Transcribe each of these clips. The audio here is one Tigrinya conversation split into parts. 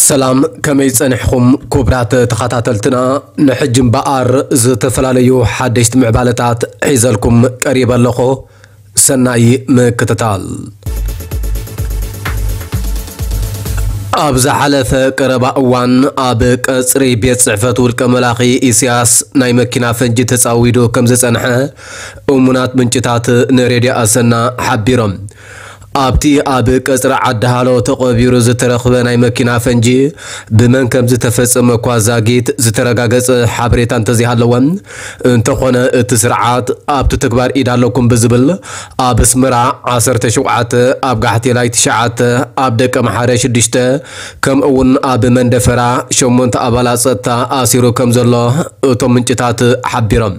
ሰላም፣ ከመይ ጸኒሕኹም ክቡራት ተኸታተልትና? ንሕጂ እምበኣር ዝተፈላለዩ ሓደሽቲ ምዕባለታት ሒዘልኩም ቀሪበ ኣለኹ። ሰናይ ምክትታል። ኣብ ዝሓለፈ ቀረባ እዋን ኣብ ቀጽሪ ቤት ጽሕፈት ውልቀ መላኺ ኢሳያስ ናይ መኪና ፈንጂ ተጻዊዱ ከም ዝጸንሐ እሙናት ምንጭታት ንሬድዮ ኣሰና ሓቢሮም። ኣብቲ ኣብ ቀጽሪ ዓዲ ሃሎ ተቐቢሩ ዝተረኽበ ናይ መኪና ፈንጂ ብመን ከም ዝተፈጸመ እኳ ዛጊት ዝተረጋገጸ ሓበሬታ እንተዘይሃለወ፣ እንተኾነ እቲ ስርዓት ኣብቲ ተግባር ኢድ ኣለኩም ብዝብል ኣብ ኣስመራ ዓሰርተ ሸውዓተ፣ ኣብ ጋሕቴላይ ትሽዓተ፣ ኣብ ደቀምሓረ ሽዱሽተ፣ ከምኡ እውን ኣብ መንደፈራ ሸሞንተ ኣባላት ጸጥታ ኣሲሩ ከም ዘሎ እቶም ምንጭታት ሓቢሮም።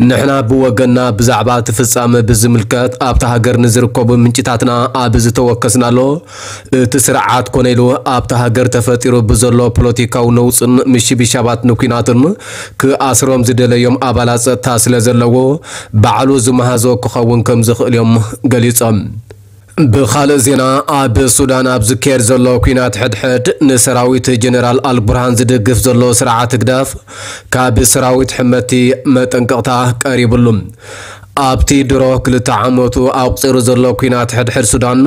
ንሕና ብወገንና ብዛዕባ እቲ ፍጻመ ብዝምልከት ኣብታ ሃገር ንዝርከቡ ምንጭታትና ኣብ ዝተወከስናሉ፣ እቲ ስርዓት ኮነ ኢሉ ኣብታ ሃገር ተፈጢሩ ብዘሎ ፖለቲካዊ ነውጽን ምሽብሻባት ንኲናትን ክኣስሮም ዝደለዮም ኣባላት ጸጥታ ስለ ዘለዎ፣ ባዕሉ ዝመሃዞ ክኸውን ከም ዝኽእል እዮም ገሊጾም። ብኻልእ ዜና፣ ኣብ ሱዳን ኣብ ዝካየድ ዘሎ ኲናት ሕድሕድ ንሰራዊት ጀነራል ኣልቡርሃን ዝድግፍ ዘሎ ስርዓት ህግደፍ ካብ ሰራዊት ሕመቲ መጠንቀቕታ ቀሪብሉ። ኣብቲ ድሮ ክልተ ዓመቱ ኣቑጺሩ ዘሎ ኲናት ሕድሕድ ሱዳን፣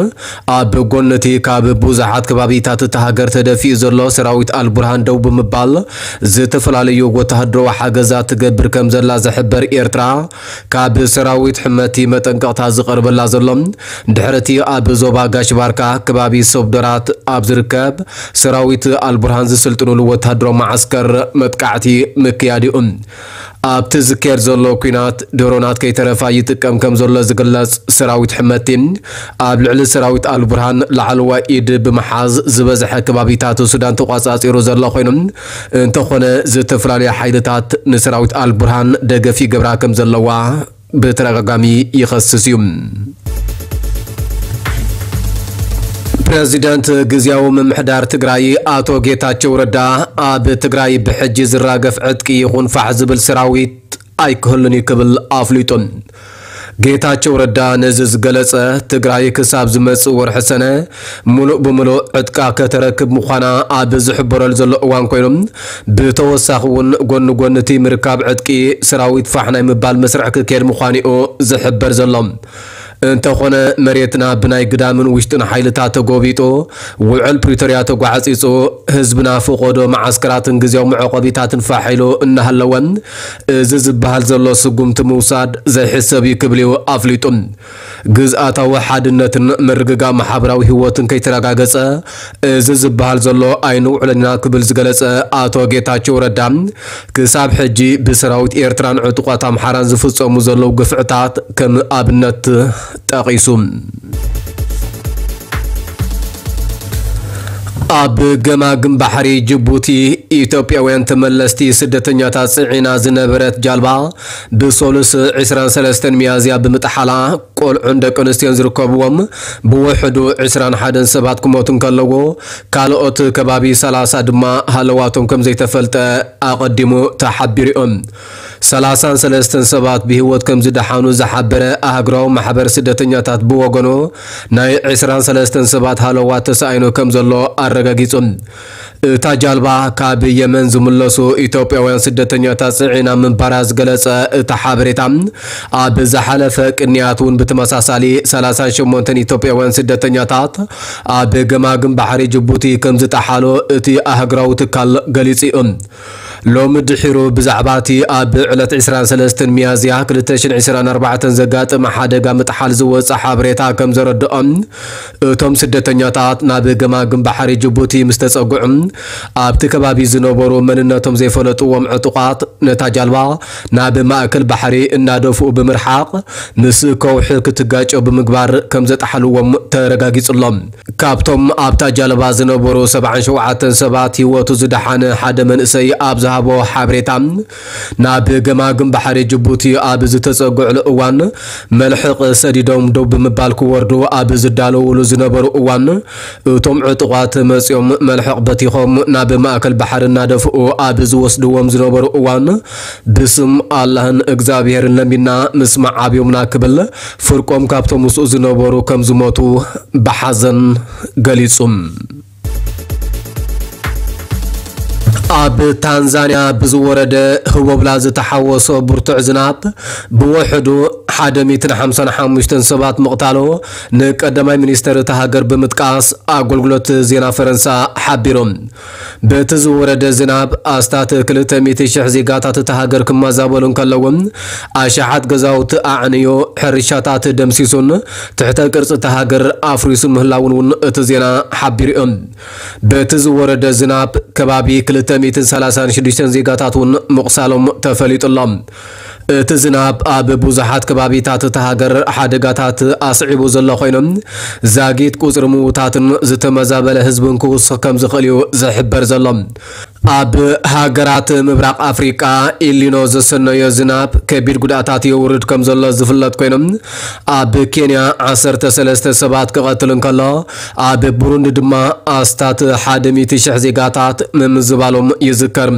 ኣብ ጎኒ እቲ ካብ ብዙሓት ከባቢታት እታ ሃገር ተደፊኡ ዘሎ ሰራዊት ኣልቡርሃን ደው ብምባል ዝተፈላለዩ ወተሃደራዊ ሓገዛት ትገብር ከም ዘላ ዝሕበር ኤርትራ፣ ካብ ሰራዊት ሕመቲ መጠንቀቕታ ዝቐርበላ ዘሎ፣ ድሕሪ እቲ ኣብ ዞባ ጋሽ ባርካ ከባቢ ሶብደራት ኣብ ዝርከብ ሰራዊት ኣልቡርሃን ዝስልጥኑሉ ወተሃደራዊ መዓስከር መጥቃዕቲ ምክያድ'ዩ። ኣብቲ ዝካየድ ዘሎ ኲናት ድሮናት ከይተረፋ ይጥቀም ከም ዘሎ ዝግለጽ ሰራዊት ሕመቲ፣ ኣብ ልዕሊ ሰራዊት ኣልቡርሃን ላዕለዋይ ኢድ ብምሓዝ ዝበዝሐ ከባቢታት ሱዳን ተቋጻጺሩ ዘሎ ኮይኑ፣ እንተኾነ ዝተፈላለዩ ሓይልታት ንሰራዊት ኣልቡርሃን ደገፍ ይገብራ ከም ዘለዋ ብተደጋጋሚ ይኸስስ እዩ። ፕረዚደንት ግዝያዊ ምምሕዳር ትግራይ ኣቶ ጌታቸው ረዳ፣ ኣብ ትግራይ ብሕጂ ዝራገፍ ዕጥቂ ይኹን ፋሕ ዝብል ሰራዊት ኣይክህሉን እዩ ክብል ኣፍሊጡ። ጌታቸው ረዳ ነዚ ዝገለጸ፣ ትግራይ ክሳብ ዝመጽእ ወርሒ ሰነ ምሉእ ብምሉእ ዕጥቃ ከተረክብ ምዃና ኣብ ዝሕበረሉ ዘሎ እዋን ኮይኑ፣ ብተወሳኺ እውን ጎኒ ጎኒ እቲ ምርካብ ዕጥቂ ሰራዊት ፋሕ ናይ ምባል መስርሕ ክካየድ ምዃኑ'ዩ ዝሕበር ዘሎ። እንተኾነ መሬትና ብናይ ግዳምን ውሽጥን ሓይልታት ተጎቢጡ፣ ውዕል ፕሪቶርያ ተጓዕጺጹ፣ ህዝብና ፈቐዶ መዓስከራትን ግዝያዊ መዕቆቢታትን ፋሕ ኢሉ እናሃለወ፣ እዚ ዝበሃል ዘሎ ስጉምቲ ምውሳድ ዘይሕሰብ እዩ ክብል እዩ ኣፍሊጡ። ግዝኣታዊ ሓድነትን ምርግጋእ ማሕበራዊ ህይወትን ከይተረጋገጸ፣ እዚ ዝበሃል ዘሎ ኣይንውዕሎን ኢና ክብል ዝገለጸ ኣቶ ጌታቸው ረዳ፣ ክሳብ ሕጂ ብሰራዊት ኤርትራን ዕጡቓት ኣምሓራን ዝፍጸሙ ዘለዉ ግፍዕታት ከም ኣብነት ጠቒሱ። ኣብ ገማግም ባሕሪ ጅቡቲ ኢትዮጵያውያን ተመለስቲ ስደተኛታት ጽዒና ዝነበረት ጃልባ ብሰሉስ ዕስራን ሰለስተን ሚያዝያ ብምጥሓላ ቆልዑን ደቂ ኣንስትዮን ዝርከብዎም ብውሕዱ ዕስራን ሓደን ሰባት ክሞቱ እንከለዎ፣ ካልኦት ከባቢ ሰላሳ ድማ ሃለዋቶም ከም ዘይተፈልጠ ኣቐዲሙ ተሓቢሩ እዩ። ሰላሳን ሰለስተን ሰባት ብህይወት ከም ዝደሓኑ ዝሓበረ ኣህጉራዊ ማሕበር ስደተኛታት ብወገኑ፣ ናይ ዕስራን ሰለስተን ሰባት ሃለዋት ተሳኢኑ ከም ዘሎ ኣረጋጊጹ። እታ ጃልባ ካብ የመን ዝምለሱ ኢትዮጵያውያን ስደተኛታት ጽዒና ምንባራ ዝገለጸ እቲ ሓበሬታ፣ ኣብ ዝሓለፈ ቅንያት እውን ብተመሳሳሊ ሰላሳን ሸሞንተን ኢትዮጵያውያን ስደተኛታት ኣብ ገማግም ባሕሪ ጅቡቲ ከም ዝጠሓሉ እቲ ኣህጉራዊ ትካል ገሊጹ እዩ። ሎሚ ድሒሩ ብዛዕባ እቲ ኣብ ዕለት ዕስራን ሰለስተን ሚያዝያ ክልተ ሽሕን ዕስራን ኣርባዕተን ዘጋጠመ ሓደጋ ምጥሓል ዝወጸ ሓበሬታ ከም ዘረድኦም፣ እቶም ስደተኛታት ናብ ገማግም ባሕሪ ጅቡቲ ምስ ተጸግዑ፣ ኣብቲ ከባቢ ዝነበሩ መንነቶም ዘይፈለጥዎም ዕጡቓት ነታ ጃልባ ናብ ማእከል ባሕሪ እናደፍኡ ብምርሓቕ፣ ምስ ከውሒ ክትጋጨው ብምግባር ከም ዘጥሓልዎም ተረጋጊጹ ኣሎ። ካብቶም ኣብታ ጃልባ ዝነበሩ ሰብዓን ሸውዓተን ሰባት ህይወቱ ዝደሓነ ሓደ መንእሰይ ኣብ ዝሃቦ ሓበሬታ፣ ናብ ገማግም ባሕሪ ጅቡቲ ኣብ ዝተጸግዕሉ እዋን፣ መልሕቕ ሰዲዶም ደው ብምባል ክወርዱ ኣብ ዝዳለውሉ ዝነበሩ እዋን፣ እቶም ዕጡቓት መጺኦም መልሕቕ በቲኾም ናብ ማእከል ባሕሪ እናደፍኡ ኣብ ዝወስድዎም ዝነበሩ እዋን፣ ብስም ኣላህን እግዚኣብሄርን ለሚና ምስማዕ ኣብዮምና ክብል፣ ፍርቆም ካብቶም ምስኡ ዝነበሩ ከም ዝሞቱ ብሓዘን ገሊጹ። ኣብ ታንዛንያ ብዝወረደ ህቦብላ ዝተሓወሶ ብርቱዕ ዝናብ ብውሕዱ ሓደ ሚእትን ሓምሳን ሓሙሽተን ሰባት ምቕታሉ ንቀዳማይ ሚኒስተር እታ ሃገር ብምጥቃስ ኣገልግሎት ዜና ፈረንሳ ሓቢሩ። በቲ ዝወረደ ዝናብ ኣስታት ክልተ ሚእቲ ሽሕ ዜጋታት እታ ሃገር ክመዛበሉ እንከለዉ፣ ኣሽሓት ገዛውቲ ኣዕንዩ፣ ሕርሻታት ደምሲሱን ትሕተ ቅርጺ እታ ሃገር ኣፍሪሱን ምህላውን እውን እቲ ዜና ሓቢሩ እዩ። በቲ ዝወረደ ዝናብ ከባቢ ክልተ ሚእትን ሰላሳን ሽዱሽተን ዜጋታት እውን ምቑሳሎም ተፈሊጡ ኣሎ። እቲ ዝናብ ኣብ ብዙሓት ከባቢታት እታ ሃገር ሓደጋታት ኣስዒቡ ዘሎ ኮይኑ፣ ዛጊት ቁጽሪ ምዉታትን ዝተመዛበለ ህዝብን ክውስኽ ከም ዝኽእል እዩ ዝሕበር ዘሎ። ኣብ ሃገራት ምብራቕ ኣፍሪቃ ኢሊኖ ዘሰነዮ ዝናብ ከቢድ ጉድኣታት የውርድ ከም ዘሎ ዝፍለጥ ኮይኑ፣ ኣብ ኬንያ ዓሰርተ ሰለስተ ሰባት ክቐትል እንከሎ፣ ኣብ ቡሩንዲ ድማ ኣስታት ሓደ ሚእቲ ሽሕ ዜጋታት ምምዝባሎም ይዝከር።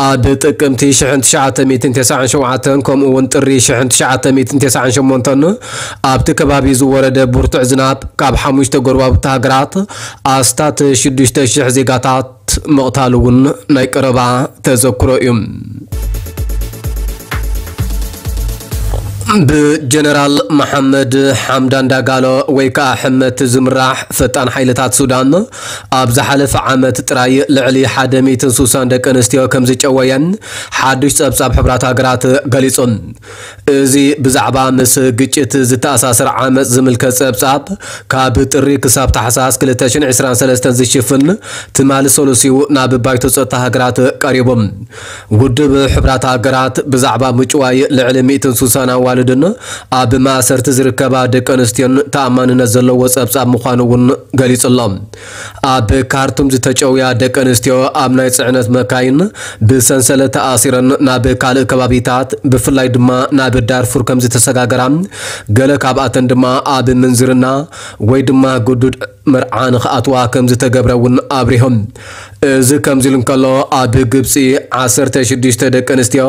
ኣብ ጥቅምቲ ሽሕን ትሽዓተ ሚእትን ተስዓን ሸውዓተን ከምኡ እውን ጥሪ ሽሕን ትሽዓተ ሚእትን ተስዓን ሸሞንተን ኣብቲ ከባቢ ዝወረደ ብርቱዕ ዝናብ ካብ ሓሙሽተ ጎረባብቲ ሃገራት ኣስታት ሽዱሽተ ሽሕ ዜጋታት ምቕታሉ እውን ናይ ቀረባ ተዘክሮ እዩ። ብጀነራል መሓመድ ሓምዳን ዳጋሎ ወይ ከዓ ሕመት ዝምራሕ ፈጣን ሓይልታት ሱዳን ኣብ ዝሓለፈ ዓመት ጥራይ ልዕሊ ሓደ ሚእትን ሱሳን ደቂ ኣንስትዮ ከም ዝጨወየን ሓድሽ ጸብጻብ ሕብራት ሃገራት ገሊጹ። እዚ ብዛዕባ ምስ ግጭት ዝተኣሳሰር ዓመጽ ዝምልከት ጸብጻብ ካብ ጥሪ ክሳብ ታሕሳስ ክልተ ሽሕን ዕስራን ሰለስተን ዝሽፍን ትማሊ ሰሉስ እዩ ናብ ባይቶ ጸጥታ ሃገራት ቀሪቡ። ውድብ ሕብራት ሃገራት ብዛዕባ ምጭዋይ ልዕሊ ሚእትን ሱሳን ኣዋልድን ኣብ ማእሰርቲ ዝርከባ ደቂ ኣንስትዮን ተኣማንነት ዘለዎ ጸብጻብ ምዃኑ እውን ገሊጹ ኣሎ። ኣብ ካርቱም ዝተጨውያ ደቂ ኣንስትዮ ኣብ ናይ ጽዕነት መካይን ብሰንሰለት ተኣሲረን ናብ ካልእ ከባቢታት ብፍላይ ድማ ናብ ዳርፉር ከም ዝተሰጋገራ፣ ገለ ካብኣተን ድማ ኣብ ምንዝርና ወይ ድማ ግዱድ መርዓ ንኽኣትዋ ከም ዝተገብረ እውን ኣብሪሆም። እዚ ከምዚ ኢሉ እንከሎ፣ ኣብ ግብጺ ዓሰርተ ሽዱሽተ ደቂ ኣንስትዮ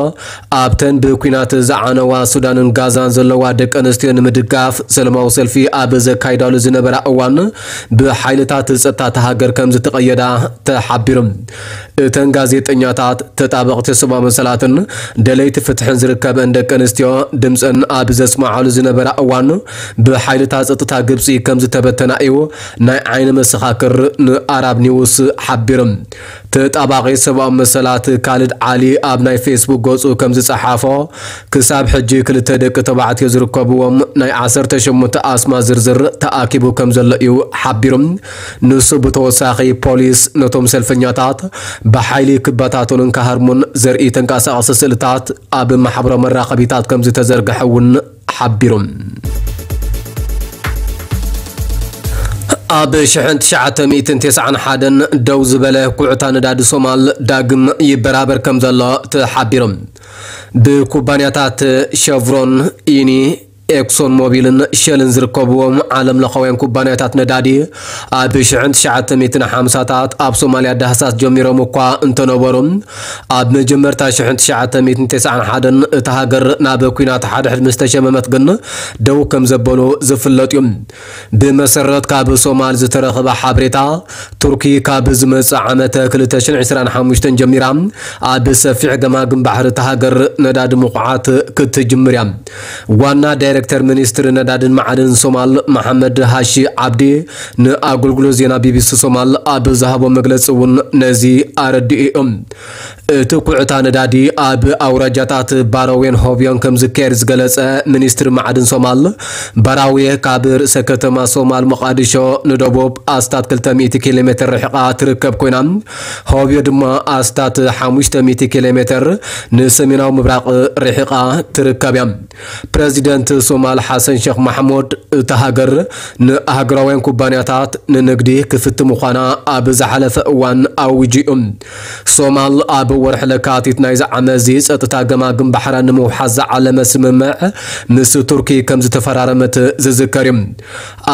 ኣብተን ብኲናት ዝዓነዋ ሱዳንን ጋዛን ዘለዋ ደቂ ኣንስትዮ ንምድጋፍ ሰላማዊ ሰልፊ ኣብ ዘካይዳሉ ዝነበራ እዋን ብሓይልታት ጸጥታ እታ ሃገር ከም ዝተቐየዳ ተሓቢሩ። እተን ጋዜጠኛታት፣ ተጣበቕቲ ሰብኣዊ መሰላትን ደለይቲ ፍትሕን ዝርከበን ደቂ ኣንስትዮ ድምፀን ኣብ ዘስምዓሉ ዝነበራ እዋን ብሓይልታት ጸጥታ ግብፂ ከም ዝተበተና እዩ ናይ ዓይኒ መሰኻክር ንኣራብ ኒውስ ሓቢሩ። ተጣባቒ ሰብኣዊ መሰላት ካልድ ዓሊ ኣብ ናይ ፌስቡክ ገፁ ከም ዝፀሓፎ፣ ክሳብ ሕጂ ክልተ ደቂ ተባዕትዮ ዝርከብዎም ናይ ዓሰርተ ሸሞንተ ኣስማት ዝርዝር ተኣኪቡ ከም ዘሎ እዩ ሓቢሩ። ንሱ ብተወሳኺ ፖሊስ ነቶም ሰልፈኛታት ብሓይሊ ክበታተኑን ክሃርሙን ዘርኢ ተንቀሳቓሲ ስእልታት ኣብ ማሕበራዊ መራኸቢታት ከም ዝተዘርግሐ እውን ሓቢሩ። ኣብ ሽሕን ትሽዓተ ሚእትን ተስዓን ሓደን ደው ዝበለ ኩዕታ ነዳዲ ሶማል ዳግም ይበራበር ከም ዘሎ ተሓቢሩ። ብኩባንያታት ሸቭሮን፣ ኢኒ፣ ኤክሶን ሞቢልን ሸልን ዝርከብዎም ዓለም ለኻውያን ኩባንያታት ነዳዲ ኣብ ሽሕን ትሽዓተ ሚእትን ሓምሳታት ኣብ ሶማልያ ዳህሳስ ጀሚሮም እኳ እንተነበሩ፣ ኣብ መጀመርታ ሽሕን ትሽዓተ ሚእትን ተስዓን ሓደን እታ ሃገር ናብ ኲናት ሓድሕድ ምስ ተሸመመት ግን ደው ከም ዘበሉ ዝፍለጥ እዩ። ብመሰረት ካብ ሶማል ዝተረኸበ ሓበሬታ፣ ቱርኪ ካብ ዝመጽእ ዓመተ ክልተ ሽሕን ዕስራን ሓሙሽተን ጀሚራ ኣብ ሰፊሕ ገማግም ባሕሪ እታ ሃገር ነዳዲ ምኹዓት ክትጅምር እያ። ዋና ዳይሬክተር ሚኒስትሪ ነዳድን መዓድንን ሶማል መሓመድ ሃሺ ዓብዲ ንኣገልግሎት ዜና ቢቢሲ ሶማል ኣብ ዝሃቦ መግለጺ እውን ነዚ ኣረዲኡ እዩ። እቲ ኩዕታ ነዳዲ ኣብ ኣውራጃታት ባራዌን ሆብዮን ከም ዝካየድ ዝገለጸ ሚኒስትሪ መዓድን ሶማል፣ ባራዌ ካብ ርእሰ ከተማ ሶማል ሞቓዲሾ ንደቡብ ኣስታት ክልተ ሚእቲ ኪሎ ሜትር ርሒቓ ትርከብ ኮይና፣ ሆብዮ ድማ ኣስታት ሓሙሽተ ሚእቲ ኪሎ ሜትር ንሰሜናዊ ምብራቕ ርሒቓ ትርከብ እያ። ፕረዚደንት ሶማል ሓሰን ሸኽ ማሕሙድ፣ እታ ሃገር ንኣህጉራውያን ኩባንያታት ንንግዲ ክፍቲ ምዃና ኣብ ዝሓለፈ እዋን ኣዊጁ እዩ። ሶማል ኣብ ወርሒ ለካቲት ናይዚ ዓመት እዚ ጸጥታ ገማግም ባሕራ ንምውሓስ ዝዓለመ ስምምዕ ምስ ቱርኪ ከም ዝተፈራረመት ዝዝከር እዩ።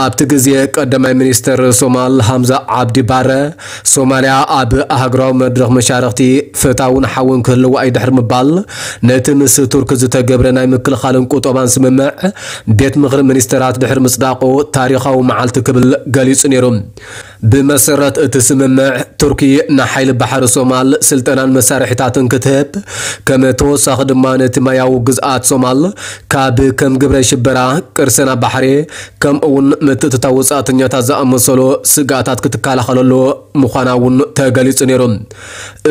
ኣብቲ ግዜ ቀዳማይ ሚኒስተር ሶማል ሃምዛ ዓብዲ ባረ፣ ሶማልያ ኣብ ኣህጉራዊ መድረኽ መሻርኽቲ ፍታውን ሓውን ክህልዋ እዩ ድሕሪ ምባል፣ ነቲ ምስ ቱርኪ ዝተገብረ ናይ ምክልኻልን ቁጠባን ስምምዕ ቤት ምኽሪ ሚኒስተራት ድሕሪ ምጽዳቑ ታሪኻዊ መዓልቲ ክብል ገሊጹ ነይሩ። ብመሰረት እቲ ስምምዕ፣ ቱርኪ ንሓይሊ ባሕሪ ሶማል ስልጠናን መሳርሒታትን ክትህብ፣ ከም ተወሳኺ ድማ ነቲ ማያዊ ግዝኣት ሶማል ካብ ከም ግብረ ሽበራ፣ ቅርሰና ባሕሪ፣ ከምኡ እውን ምትእትታው ወጻእተኛታት ዝኣመሰሉ ስግኣታት ክትከላኸለሉ ምዃና እውን ተገሊጹ ነይሩ።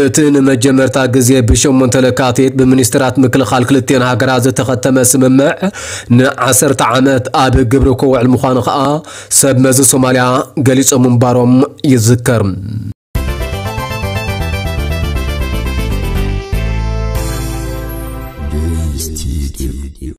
እቲ ንመጀመርታ ግዜ ብሸሞንተ ለካቲት ብሚኒስትራት ምክልኻል ክልቲአን ሃገራት ዝተኸተመ ስምምዕ፣ ንዓሰርተ ዓመት ኣብ ግብሪ ክውዕል ምዃኑ ከኣ ሰብ መዚ ሶማልያ ገሊጾም ምንባሮም ይዝከር።